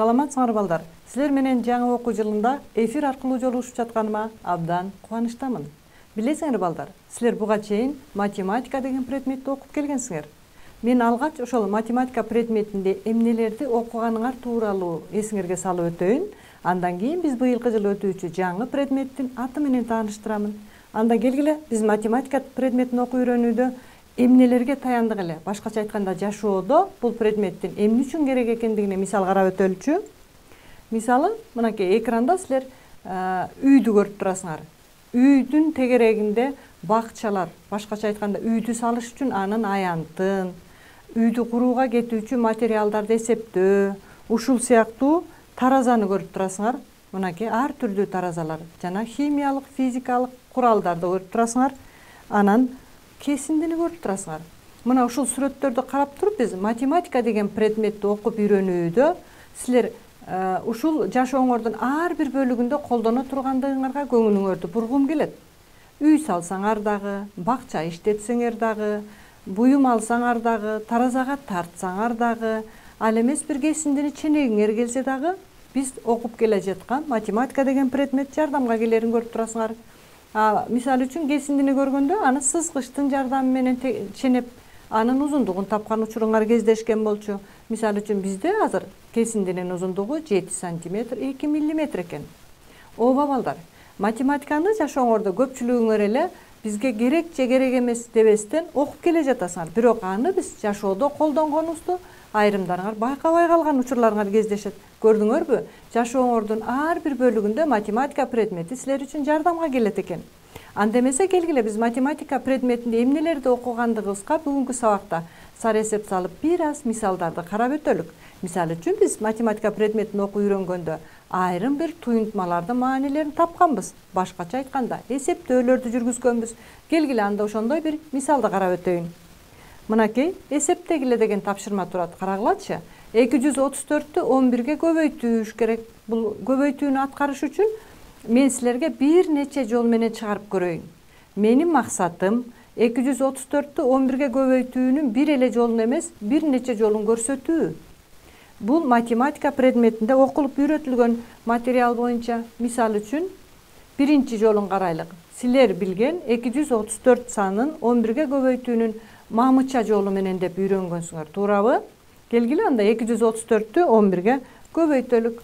Саламатсыңар балдар. Силер менен жаңы окуу жылында эфир аркылуу жолугушуп жатканыма абдан кубанычтамын. Билесиңер балдар, силер буга чейин математика деген предметти окуп келгенсиңер. Мен алгач ошол математика предметинде эмнелерди окуганыңар тууралуу эсиңерге салып өтөйүн. Андан кийин биз быйылкы жылы өтүүчү жаңы предметтин аты менен тааныштырамын. Анда келгиле биз математика предметин окуп үйрөнүүдө эмнелерге таяндык эле, башкача айтканда жашоодо бул предметтин эмне үчүн керек экендигине мисал карап өтөлүчү. Мисалы, мынакей экранда силер үйдү көрүп турасыңар. Үйдүн тегерегинде бакчалар, башкача айтканда үйдү салыш үчүн анын аянтын, үйдү курууга кетүүчү материалдарды эсептөө, ушул сыяктуу таразаны көрүп турасыңар. Мынакей ар түрдүү таразалар жана химиялык, физикалык куралдарды көрүп турасыңар. Анан кесиндини көрүп турасыңар. Мына ушул сүрөттөрдү карап туруп биз математика деген предметти окуп үйрөнүүдө силер ушул жашооңордун ар бир бөлүгүндө колдоно тургандыгыңарга көңүлүңөрдү бургум келет. Үй салсаңар дагы, бакча иштетсеңер дагы, буюм алсаңар дагы, таразага тартсаңар дагы, ал эмес бир кесиндини ченегиңер келсе дагы, биз окуп келе жаткан математика деген предмет жардамга келерин көрүп турасыңар. Мисалы үчүн кесиндини көргөндө аны сызгычтын жардамы менен ченеп, анын узундугун тапкан учуруңар кездешкен болчу. Мисалы үчүн бизде азыр кесиндинин узундугу 7 сантиметр 2 миллиметр экен. Ооба балдар, математиканы жашооңордо көпчүлүгүңөр эле бизге керек же керек эмес дебестен окуп келе жатасыңар. Бирок аны биз жашоодо колдонгонубузду айрымдарыңар байкабай калган учурларыңар кездешет. Көрдүңөрбү? Жашооңордун ар бир бөлүгүндө математика предмети силер үчүн жардамга келет экен. Анда эмесе келгиле биз математика предметинде эмнелерди окугандыгыбызга бүгүнкү сабакта сары эсеп салып бир аз мисалдарды карап өтөлүк. Мисалы үчүн биз математика предметин окуп үйрөнгөндө айрым бир туюнтмалардын маанилерин тапканбыз. Башкача айтканда эсептөөлөрдү жүргүзгөнбүз. Келгиле анда ошондой бир мисалды карап өтөйүн. Мынакей эсептегиле деген тапшырма турат. Карагылачы. 234-тү 11-ге көбөйтүш керек. Бул көбөйтүүнү аткарыш үчүн мен силерге бир нече жол менен чыгарып көрөйүн. Менин максатым 234-тү 11-ге көбөйтүүнүн бир эле жолун эмес, бир нече жолун көрсөтүү. Бул математика предметинде окулуп үйрөтүлгөн материал боюнча. Мисал үчүн биринчи жолун карайлык. Силер билген 234 санын 11-ге көбөйтүүнүн мамыча жолу менен деп үйрөнгөнсүңөр, туурабы? Келгиле анда 234-тү 11-ге көбөйтөлүк.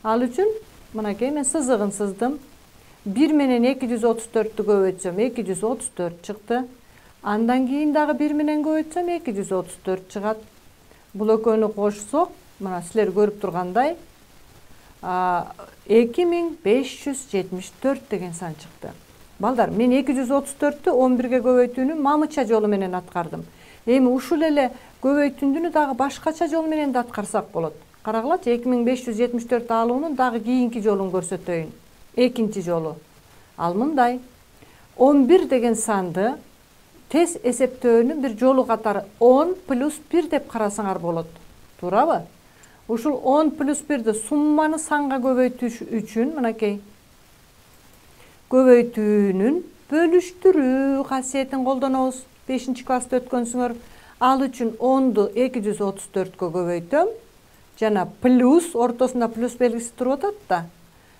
Ал үчүн мынакей мен сызыгын сыздым. 1 менен 234-тү көбөйтсөм 234 чыкты. Андан кийин дагы 1 менен көбөйтсөм 234 чыгат. Бул экөөнү кошсок, мына силер көрүп тургандай 2574 деген сан чыкты. Балдар, мен 234-тү 11-ге көбөйтүүнүн мамыча жолу менен аткардым. Эми ушул эле көбөйтүүнү дагы башкача жол менен да аткарсак болот. Карагылачы, 2574 алуунун дагы кийинки жолун көрсөтөйүн. Экинчи жолу. Ал мындай. 11 деген санды тез эсептөөнүн бир жолу катары 10 плюс 1 деп карасаңар болот. Туурабы? Ушул 10 плюс 1ди сумманы санга көбөйтүш үчүн мынакей көбөйтүүнүн бөлүштүрүү касиетин колдонобуз. 5-класста өткөнсүңөр. Ал үчүн 10ду 234-кө көбөйтөм. Жана плюс, ортосунда плюс белгиси туруп атат да.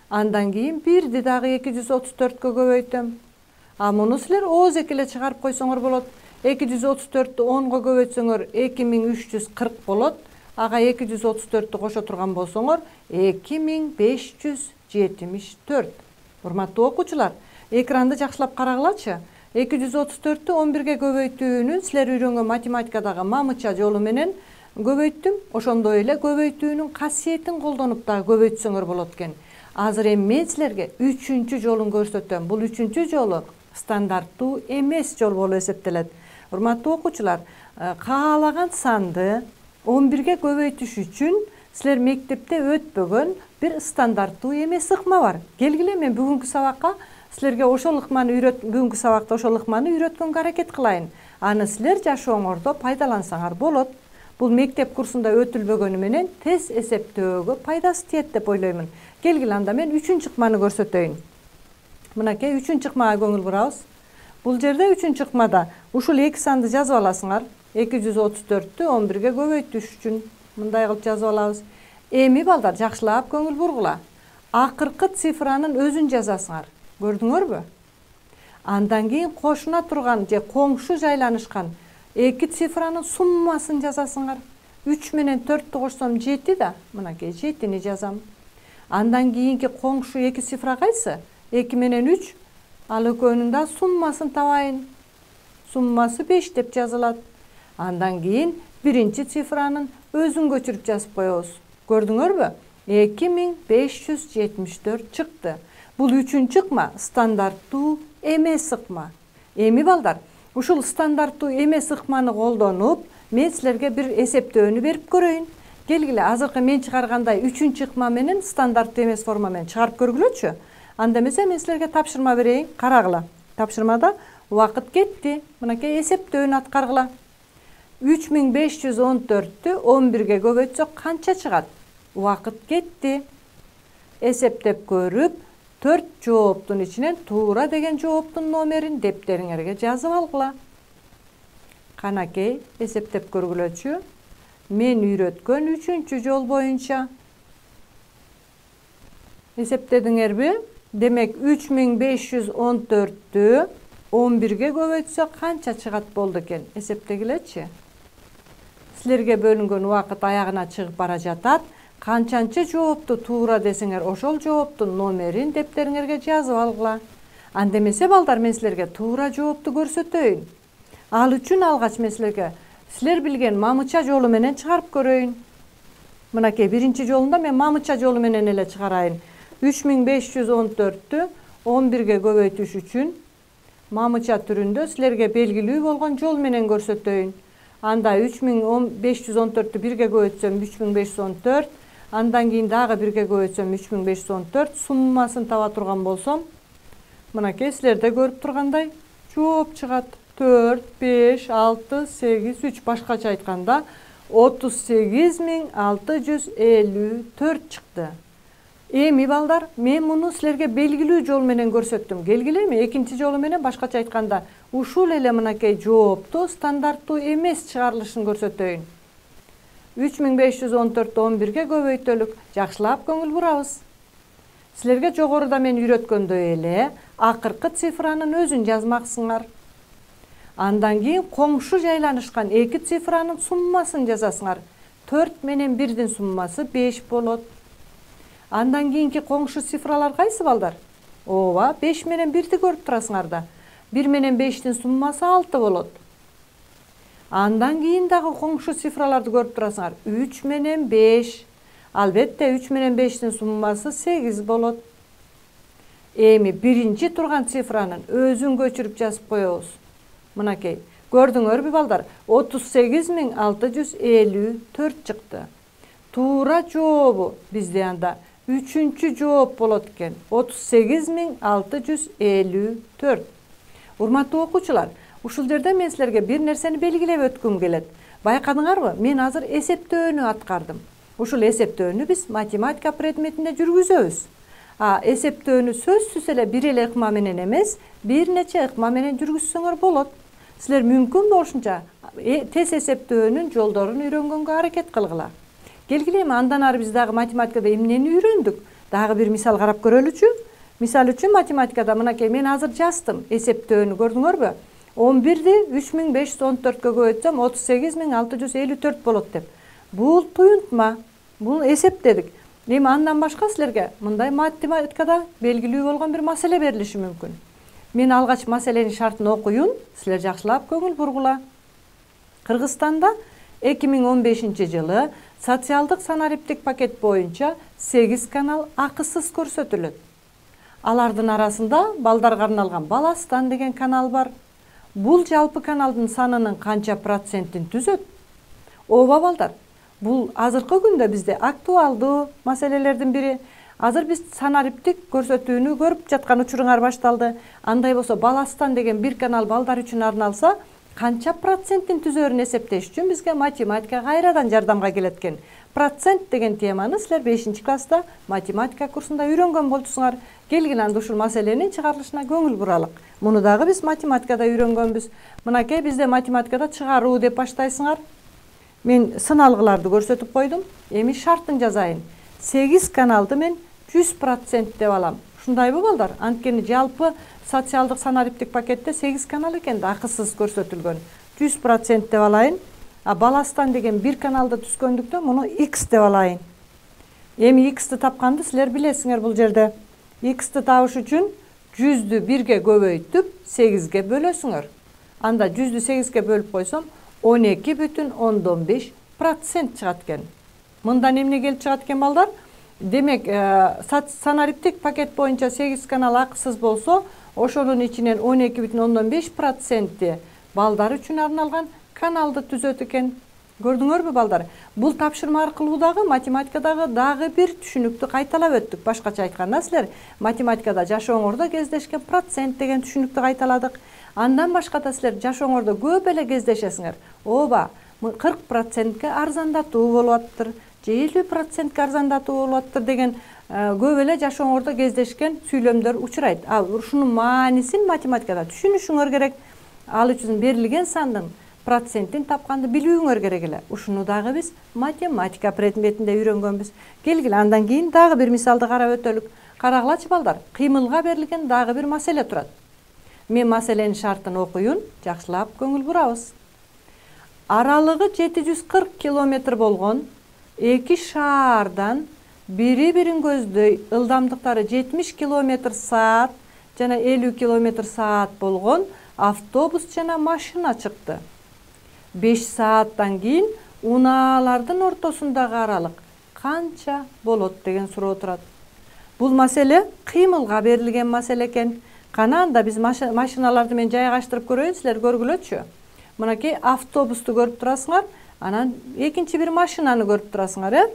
Андан кийин 1ди дагы 234-кө көбөйтөм. Муну силер ооз эки эле чыгарып койсоңор болот. 234-тү 10-го көбөйтсөңөр 2340 болот. Ага 234-тү кошо турган болсоңор 2574. Урматтуу окуучулар, экранды жакшылап карагылачы. 234-тү 11-ге көбөйтүүнүн силер үйрөнгөн математикадагы мамыча жолу менен көбөйттүм. Ошондой эле көбөйтүүнүн касиетин колдонуп дагы көбөйтсөңөр болот экен. Азыр эми мен силерге 3-чү жолун көрсөтөм. Бул 3-чү жолу стандарттуу эмес жол болуп эсептелет. Урматтуу окуучулар, каалаган санды 11-ге көбөйтүш үчүн силер мектепте өтпөгөн бир стандарттуу эмес ыкма бар. Келгиле мен бүгүнкү сабакка силерге ошол ыкманы бүгүнкү сабакта ошол ыкманы үйрөткөнгө аракет кылайын. Аны силер жашооңордо пайдалансаңар болот. Бул мектеп курсунда өтүлбөгөнү менен тез эсептөөгө пайдасы тиет деп ойлоймун. Келгиле анда мен 3-чү ыкманы көрсөтөйүн. Мынакей 3-чү ыкмага көңүл бурабыз. Бул жерде 3-чү ыкмада ушул эки санды жазып аласыңар. 234-тү 11-ге көбөйтүш үчүн мындай кылып жазып алабыз. Эми балдар жакшылап көңүл бургула. Акыркы цифранын өзүн жазасыңар. Көрдүңөрбү? Андан кийин кошуна турган же коңшу жайланышкан эки цифранын суммасын жазасыңар. 3 менен 4-тү кошсом 7 да. Мынакей 7-ни жазам. Андан кийинки коңшу эки цифра кайсы? 2 менен 3. Ал экөөнүн да суммасын табайын. Суммасы 5 деп жазылат. Андан кийин биринчи цифранын өзүн көчүрүп жазып коебуз. Көрдүңөрбү? 2574 чыкты. Бул үчүнчү ыкма стандарттуу эмес ыкма. Эми балдар, ушул стандарттуу эмес ыкманы колдонуп, мен силерге бир эсептөөнү берип көрөйүн. Келгиле, азыркы мен чыгаргандай үчүнчү ыкма менен стандарттуу эмес форма менен чыгарып көргүлөчү. Анда эмесе мен силерге тапшырма берейин, карагыла. Тапшырмада убакыт кетти. Мынакей эсептөөнү аткаргыла. 3514-тү 11-ге көбөйтсөк канча чыгат? Убакыт кетти. Эсептеп көрүп, 4 жооптун ичинен туура деген жооптун номерин дептериңерге жазып алгыла. Канакей, эсептеп көргүлөчү. Мен үйрөткөн 3-чү жол боюнча. Эсептедиңерби? Демек 3514-тү 11-ге көбөйтсөк канча чыгат болду экен? Эсептегилечи. Силерге бөлүнгөн убакыт аягына чыгып бара жатат. Канчанчы жоопту туура десеңер, ошол жооптун номерин дептериңерге жазып алгыла. Анда эмесе балдар, мен силерге туура жоопту көрсөтөйүн. Ал үчүн алгач мен силерге силер билген мамыча жолу менен чыгарып көрөйүн. Мынакей биринчи жолунда мен мамыча жолу менен эле чыгарайын. 3514-тү 11-ге көбөйтүш үчүн мамыча түрүндө силерге белгилүү болгон жол менен көрсөтөйүн. Анда 3514-тү 1-ге көбөйтсөм 3514, андан кийин дагы 1-ге көбөйтсөм 3514, суммасын таба турган болсом, мынакей силерде көрүп тургандай жооп чыгат. 4, 5, 6, 8, 3 башкача айтканда 38654 чыкты. Эми балдар, мен муну силерге белгилүү жол менен көрсөттүм. Келгилеби, экинчи жолу менен башкача айтканда ушул эле мынакей жоопту стандарттуу эмес чыгарылышын көрсөтөйүн. 3514-тү 11-ге көбөйтөлүк. Жакшылап көңүл бурабыз. Силерге жогоруда мен үйрөткөндөй эле акыркы цифранын өзүн жазмаксыңар. Андан кийин коңшу жайланышкан эки цифранын суммасын жазасыңар. 4 менен 1-дин суммасы 5 болот. Андан кийинки коңшу цифралар кайсы балдар? Ооба, 5 менен 1-ди көрүп турасыңар да. 1 менен 5-тин суммасы 6 болот. Андан кийин дагы коңшу цифраларды көрүп турасыңар. 3 менен 5. Албетте 3 менен 5-тин суммасы 8 болот. Эми биринчи турган цифранын өзүн көчүрүп жазып коебуз. Мынакей, көрдүңөрбү балдар? 38654 чыкты. Туура жообу бизде анда 3-чү жооп болот экен. 38654. Урматтуу окуучулар, ушул жерде мен силерге бир нерсени белгилеп өткүм келет. Байкадыңарбы? Мен азыр эсептөөнү аткардым. Ушул эсептөөнү биз математика предметинде жүргүзөбүз. Эсептөөнү сөзсүз эле бир эле ыкма менен эмес, бир нече ыкма менен жүргүзсөңөр болот. Силер мүмкүн болушунча тез эсептөөнүн жолдорун үйрөнгөнгө аракет кылгыла. Келгиле, андан ары биз дагы математикада эмнени үйрөндүк? Дагы бир мисал карап көрөлүчү. Мисал үчүн математикада мынакей мен азыр жаздым эсептөөнү, көрдүңөрбү? 11-ди 3514-кө көбөйтсөм 38654 болот деп. Бул туюнтма, бул эсептедик. Эми андан башка силерге мындай математикада белгилүү болгон бир маселе берилиши мүмкүн. Мен алгач маселенин шартын окуйун, силер жакшылап көңүл бургула. Кыргызстанда 2015-жылы социалдык санариптик пакет боюнча 8 канал акысыз көрсөтүлөт. Алардын арасында балдарга арналган Баластан деген канал бар. Бул жалпы каналдын санынын канча процентин түзөт? Ооба балдар, бул азыркы күндө бизде актуалдуу маселелердин бири. Азыр биз санариптик көрсөтүүнү көрүп жаткан учуруңар башталды. Андай болсо Баластан деген бир канал балдар үчүн арналса, канча проценттин түзөрүн эсептеш үчүн бизге математика кайрадан жардамга келет экен. Процент деген теманы силер 5-класста математика курсунда үйрөнгөн болчусуңар. Келгиле, анда ушул маселенин чыгарылышына көңүл буралык. Муну дагы биз математикада үйрөнгөнбүз. Мынакей бизде математикада чыгаруу деп баштайсыңар. мен сыналгыларды көрсөтүп койдум. Эми шартын жазайын. 8 каналды мен 100% деп алам. Ушундайбы балдар? Анткени жалпы социалдык санариптик пакетте 8 канал экен да, акысыз көрсөтүлгөн. 100% деп алайын. Баластан деген 1 каналды түскөндүктөн муну x деп алайын. Эми x-ти тапканды силер билесиңер бул жерде. X-ти табыш үчүн 100-дү 1ге көбөйтүп 8ге бөлөсүңөр. Анда 100-дү 8ге бөлүп койсом 12,5% чыгат экен. Мындан эмне келип чыгат экен балдар? Демек, санариптик пакет боюнча 8 канал акысыз болсо, ошонун ичинен 12,5% балдар үчүн арналган каналды түзөт экен. Көрдүңөрбү балдар? Бул тапшырма аркылуу дагы математикадагы дагы бир түшүнүктү кайталап өттүк. Башкача айтканда силер математикада жашооңордо кездешкен процент деген түшүнүктү кайталадык. Андан башка да силер жашооңордо көп эле кездешесиңер. Ооба, 40%ке арзандатуу болуп атыптыр, же 50%ке арзандатуу болуп атыптыр деген көп эле жашооңордо кездешкен сүйлөмдөр учурайт. Ушунун маанисин математикада түшүнүшүңөр керек. Ал үчүн берилген сандын процентин тапканды билүүңөр керек эле. Ушуну дагы биз математика предметинде үйрөнгөнбүз. Келгиле, андан кийин дагы бир мисалды карап өтөлүк. Карагылачы балдар, кыймылга берилген дагы бир маселе турат. Мен маселенин шартын окуйун, жакшылап көңүл бурабыз. Аралыгы 740 километр болгон эки шаардан бири-бирин көздөй ылдамдыктары 70 км/саат жана 50 км/саат болгон автобус жана машина чыкты. 5 сааттан кийин унаалардын ортосундагы аралык канча болот деген суроо турат. Бул маселе кыймылга берилген маселе экен. Кана анда биз машиналарды мен жайгаштырып көрөйүн, силер көргүлөчү. Мынакей автобусту көрүп турасыңар, анан экинчи бир машинаны көрүп турасыңар,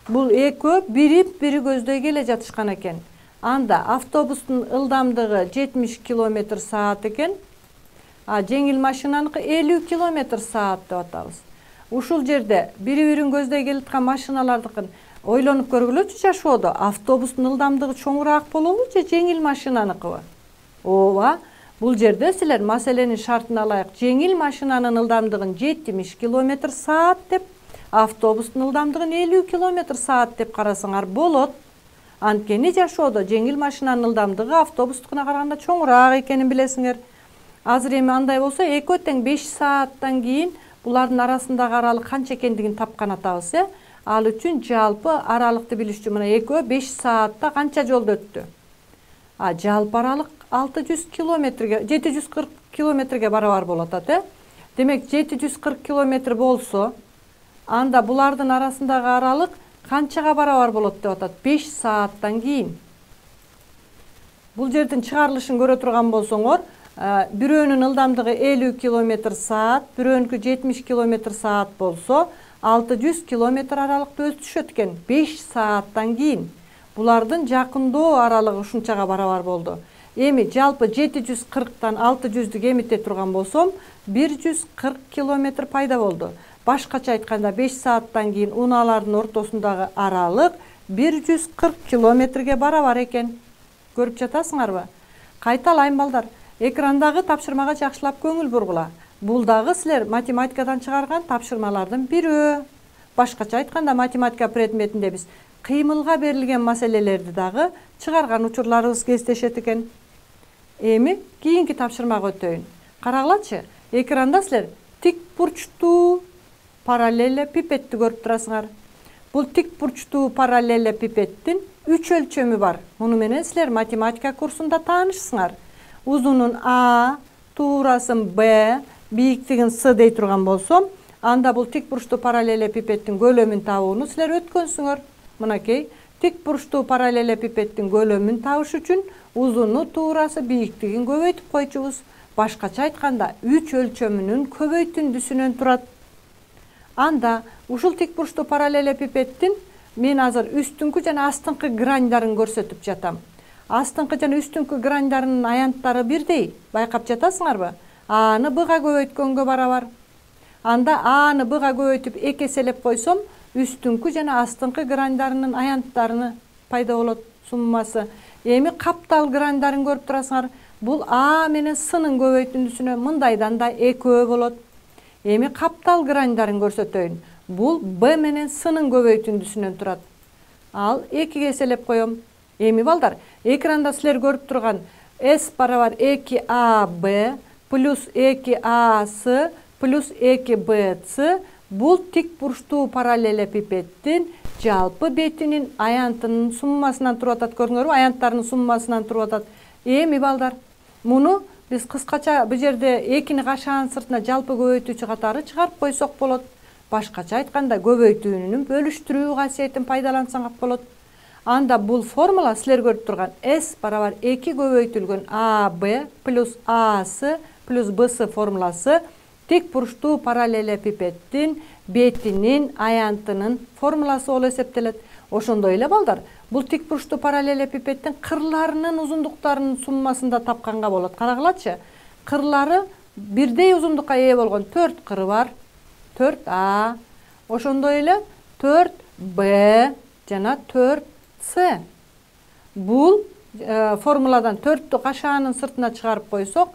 Бул экөө бири-бири көздөй келе жатышкан экен. Анда автобустун ылдамдыгы 70 км/саат экен. Жеңил машинаныкы 50 км/саат деп атабыз. Ушул жерде бири-бирин көздөй келаткан машиналардыкын ойлонуп көргүлөчү жашоодо. Автобустун ылдамдыгы чоңураак болобу же жеңил машинаныкыбы? Ооба, бул жерде силер маселенин шартына ылайык жеңил машинанын ылдамдыгын 70 км/саат деп, автобустун ылдамдыгын 50 км/саат деп карасаңар болот. Анткени жашоодо жеңил машинанын ылдамдыгы автобустукуна караганда чоңураак экенин билесиңер. Азыр эми андай болсо, экөө тең 5 сааттан кийин булардын арасындагы аралык канча экендигин тапкан атабыз, Ал үчүн жалпы аралыкты билиш үчүн мына экөө 5 саатта канча жолду өттү? Жалпы аралык 600 километрге, 740 километрге барабар болот атат, Демек 740 километр болсо, анда булардын арасындагы аралык канчага барабар болот деп атат? 5 сааттан кийин. Бул жердин чыгарылышын көрө турган болсоңор, бирөөнүн ылдамдыгы 50 км/саат, бирөөнүкү 70 км/саат болсо, 600 км аралыкты өтүшөт экен 5 сааттан кийин. Булардын жакындоо аралыгы ушунчага барабар болду. Эми жалпы 740-тан 600-дү кемите турган болсом, 140 км пайда болду. Башкача айтканда 5 сааттан кийин унаалардын ортосундагы аралык 140 километрге барабар экен. Көрүп жатасыңарбы? Кайталайм балдар. Экрандагы тапшырмага жакшылап көңүл бургула. Бул дагы силер математикадан чыгарган тапшырмалардын бирөө. Башкача айтканда математика предметинде биз кыймылга берилген маселелерди дагы чыгарган учурларыбыз кездешет экен. Эми кийинки тапшырмага өтөйүн. Карагылачы, экранда силер тик бурчтуу параллелепипедти көрүп турасыңар. Бул тик бурчтуу параллелепипедтин 3 өлчөмү бар. Муну менен силер математика курсунда таанышсыңар. Узунун А, туурасын Б, бийиктигин С дей турган болсом, анда бул тик бурчтуу параллелепипедтин көлөмүн табууну силер өткөнсүңөр. Мынакей, тик бурчтуу параллелепипедтин көлөмүн табыш үчүн узуну, туурасы, бийиктигин көбөйтүп койчубуз. Башкача айтканда 3 өлчөмүнүн көбөйтүндүсүнөн турат. Анда ушул тик бурчтуу параллелепипедтин мен азыр үстүңкү жана астыңкы граньдарын көрсөтүп жатам. Астыңкы жана үстүңкү граньдарынын аянттары бирдей. Байкап жатасыңарбы? А-ны Б-га көбөйткөнгө барабар. Анда А-ны Б-га көбөйтүп 2 эселеп койсом, үстүңкү жана астыңкы граньдарынын аянттарыны пайда болот суммасы. Эми каптал граньдарын көрүп турасыңар. Бул А менен С-нын көбөйтүндүсүнө мындайдан да экөө болот. Эми каптал граньдарын көрсөтөйүн. бул b менен s'нын көбөйтүндүсүнөн турат. Ал 2 эселеп коем. Эми балдар, экранда силер көрүп турган s барабар 2ab плюс 2ac плюс 2bc бул тик бурчтуу параллелепипеддин жалпы бетинин аянтынын суммасынан туруп атат. Көрдүңөрбү? Аянттарынын суммасынан туруп атат. Эми балдар, муну биз кыскача бул жерде 2-ни кашаанын сыртына жалпы көбөйтүүчү катары чыгарып койсок болот. Башкача айтканда көбөйтүүнүн бөлүштүрүү касиетин пайдалансаңар болот. Анда бул формула силер көрүп турган s барабар 2 көбөйтүлгөн ab плюс ac плюс bc формуласы тик бурчтуу параллелепипеддин бетинин аянтынын формуласы болуп эсептелет. Ошондой эле балдар, бул тик бурчтуу параллелепипеддин кырларынын узундуктарынын суммасында тапканга болот. Карагылачы, кырлары бирдей узундукка ээ болгон 4 кыры бар. 4a, ошондой эле 4b жана 4c. Бул формуладан 4тү кашаанын сыртына чыгарып койсок,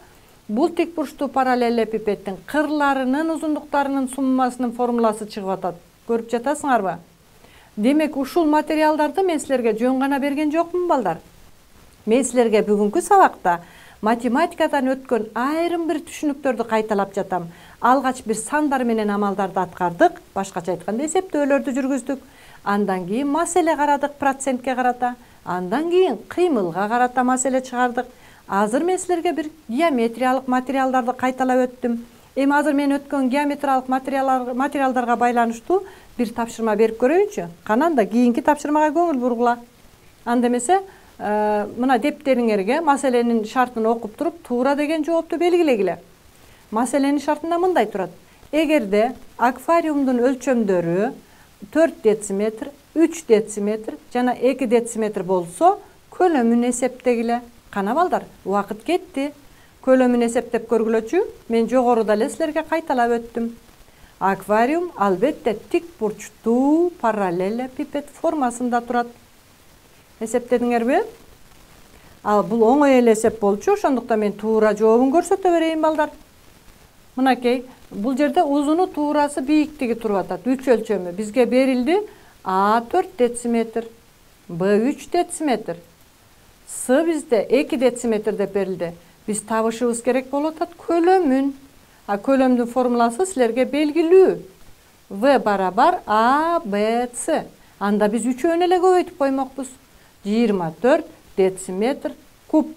бул тик бурчтуу параллелепипеддин кырларынын узундуктарынын суммасынын формуласы чыгып атат. Көрүп жатасыңарбы? Демек, ушул материалдарды мен силерге жөн гана берген жокмун балдар. Мен силерге бүгүнкү сабакта математикадан өткөн айрым бир түшүнүктөрдү кайталап жатам. Алгач бир сандар менен амалдарды аткардык, башкача айтканда эсептөөлөрдү жүргүздүк. Андан кийин маселе карадык, процентке карата. Андан кийин кыймылга карата маселе чыгардык. Азыр мен силерге бир геометриялык материалдарды кайталап өттүм. Эми азыр мен өткөн геометриялык материалдарга байланыштуу бир тапшырма берип көрөйүнчү. Кананда кийинки тапшырмага көңүл бургула. Анда эмесе, мына дептериңерге маселенин шартын окуп туруп, туура деген жоопту белгилегиле. Маселенин шартында мындай турат: эгерде аквариумдун өлчөмдөрү 4 дециметр, 3 дециметр жана 2 дециметр болсо, көлөмүн эсептегиле. Кана балдар, убакыт кетти. Көлөмүн эсептеп көргүлөчү. Мен жогоруда эле силерге кайталап өттүм. Аквариум албетте тик бурчтуу параллелепипед формасында турат. Эсептедиңерби? Ал бул оңой эле эсеп болчу, ошондуктан мен туура жообун көрсөтө берейин балдар. Мынакей, бул жерде узуну туурасы бийиктиги туруп атат. 3 өлчөмү бизге берилди. А 4 дециметр, Б 3 дециметр, С бизде 2 дециметр деп берилди. Биз табышыбыз керек болуп атат көлөмүн. А көлөмдүн формуласы силерге белгилүү. В барабар А, Б, С. Анда биз үчөөнү эле көбөйтүп коймокпуз. 24 дециметр куб.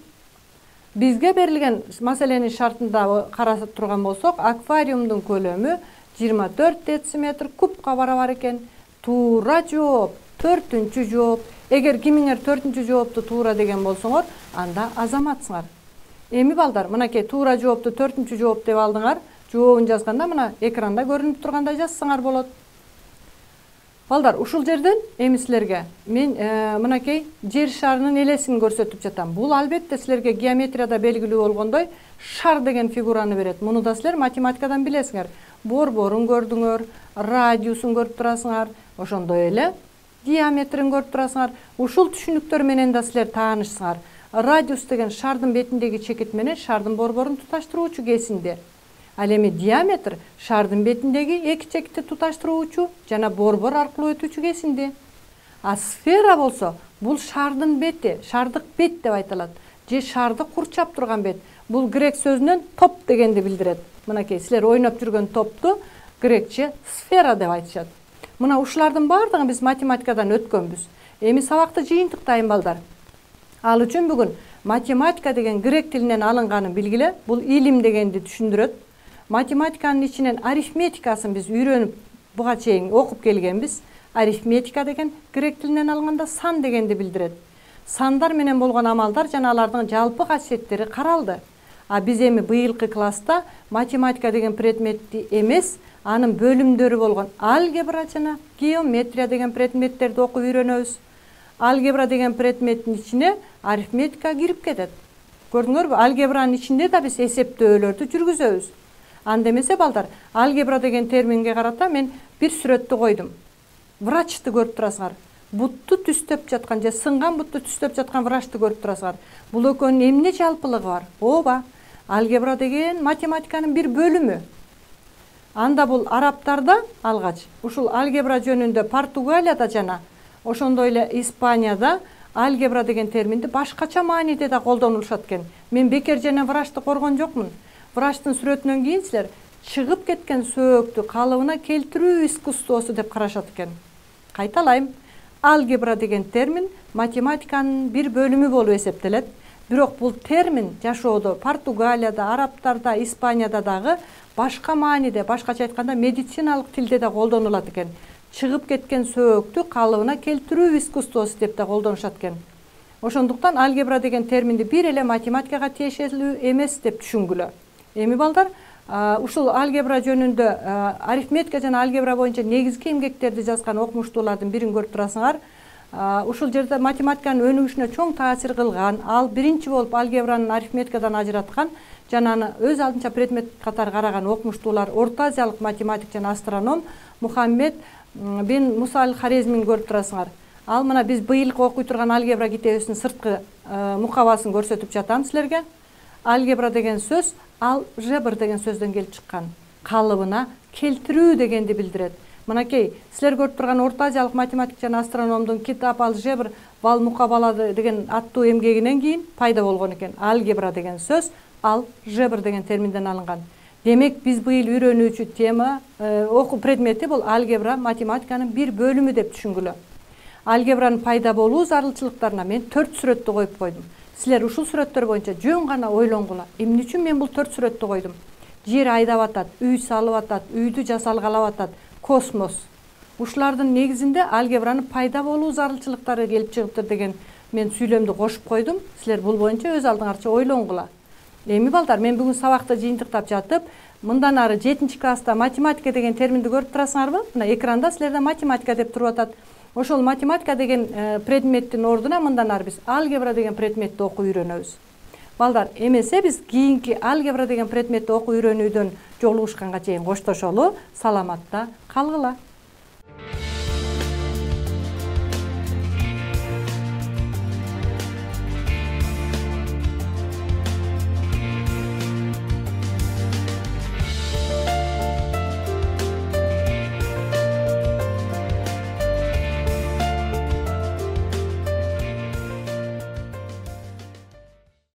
Бизге берилген маселенин шартында карап турган болсок, аквариумдун көлөмү 24 дециметр кубка барабар экен. Туура жооп, 4-үнчү жооп. Эгер кимиңер 4-үнчү жоопту туура деген болсоңор, анда азаматсыңар. Эми балдар, мынакей туура жоопту 4-үнчү жооп деп алдыңар. Жообун жазганда мына экранда көрүнүп тургандай жазсаңар болот. Балдар, ушул жерден эми силерге мен мынакей жер шарынын элесин көрсөтүп жатам. Бул албетте силерге геометрияда белгилүү болгондой шар деген фигураны берет. Муну да силер математикадан билесиңер. Борборун көрдүңөр, радиусун көрүп турасыңар, ошондой эле диаметрин көрүп турасыңар. Ушул түшүнүктөр менен да силер таанышсыңар. Радиус деген шардын бетиндеги чекит менен шардын борборун туташтыруучу кесинди. Ал эми диаметр шардын бетиндеги эки чекитти туташтыруучу жана борбор аркылуу өтүүчү кесинди. А сфера болсо, бул шардын бети, шардык бет деп айтылат. Же шарды курчап турган бет. Бул грек сөзүнөн топ дегенди билдирет. Мынакей силер ойноп жүргөн топту грекче сфера деп айтышат. Мына ушулардын баардыгын биз математикадан өткөнбүз. Эми сабакты жыйынтыктайын балдар. Ал үчүн бүгүн математика деген грек тилинен алынганын билгиле. Бул илим дегенди түшүндүрөт. Математиканын ичинен арифметикасын биз үйрөнүп буга чейин окуп келгенбиз. Арифметика деген грек тилинен алганда сан дегенди билдирет. Сандар менен болгон амалдар жана алардын жалпы касиеттери каралды. А биз эми быйылкы класста математика деген предметти эмес, анын бөлүмдөрү болгон алгебра жана геометрия деген предметтерди окуп үйрөнөбүз. Алгебра деген предметтин ичине арифметика кирип кетет. Көрдүңөрбү? Алгебранын ичинде да биз эсептөөлөрдү жүргүзөбүз. Анда эмесе балдар, алгебра деген терминге карата мен бир сүрөттү койдум. Врачты көрүп турасыңар. Бутту түстөп жаткан же сынган бутту түстөп жаткан врачты көрүп турасыңар. Бул экөөнүн эмне жалпылыгы бар? Ооба, алгебра деген математиканын бир бөлүмү. Анда бул арабтарда алгач ушул алгебра жөнүндө Португалияда жана ошондой эле Испанияда алгебра деген терминди башкача мааниде да колдонулушат экен. Мен бекер жана врачты коргон жокмун. Врачтын сүрөтүнөн кийин силер чыгып кеткен сөөктү калыбына келтирүү искусствосу деп карашат экен. Кайталайм. Алгебра деген термин математиканын бир бөлүмү болуп эсептелет. Бирок бул термин жашоодо Португалияда, арабтарда, Испанияда дагы башка мааниде, башкача айтканда медициналык тилде да колдонулат экен. Чыгып кеткен сөөктү калыбына келтирүү искусствосу деп да колдонушат экен. Ошондуктан алгебра деген терминди бир эле математикага тиешелүү эмес деп түшүнгүлө. Эми балдар, ушул алгебра жөнүндө арифметика жана алгебра боюнча негизги эмгектерди жазган окумуштуулардын бирин көрүп турасыңар. Ушул жерде математиканын өнүгүшүнө чоң таасир кылган, ал биринчи болуп алгебранын арифметикадан ажыраткан жана аны өз алдынча предмет катары караган окумуштуулар Орто Азиялык математик жана астроном Мухаммед бин Муса аль-Хорезмин көрүп турасыңар. Ал мына биз быйылкы окуй турган алгебра китебибиздин сырткы мукабасын көрсөтүп жатам силерге. Алгебра деген сөз алжебр деген сөздөн келип чыккан. Калыбына келтирүү дегенди билдирет. Мынакей, силер көрүп турган Орто Азиялык математик жана астрономдун китап алжебр вал мукабалады деген аттуу эмгегинен кийин пайда болгон экен. Алгебра деген сөз алжебр деген терминден алынган. Демек, биз быйыл үйрөнүүчү тема, окуу предмети бул алгебра математиканын бир бөлүмү деп түшүнгүлө. Алгебранын пайда болуу зарылчылыктарына мен 4 сүрөттү коюп койдум. Силер ушул сүрөттөр боюнча жөн гана ойлонгула. Эмне үчүн мен бул 4 сүрөттү койдум? Жер айдап атат, үй салып атат, үйдү жасалгалап атат, космос. Ушулардын негизинде алгебранын пайда болуу зарылчылыктары келип чыгыптыр деген мен сүйлөмдү кошуп койдум. Силер бул боюнча өз алдыңарча ойлонгула. Эми балдар, мен бүгүн сабакта жыйынтыктап жатып, мындан ары 7-класста математика деген терминди көрүп турасыңарбы? Мына экранда силерде математика деп туруп атат. Ошол математика деген предметтин ордуна мындан ары биз алгебра деген предметти окуп үйрөнөбүз. Балдар, эмесе биз кийинки алгебра деген предметти окуп үйрөнүүдөн жолугушканга чейин коштошолу, саламатта калгыла.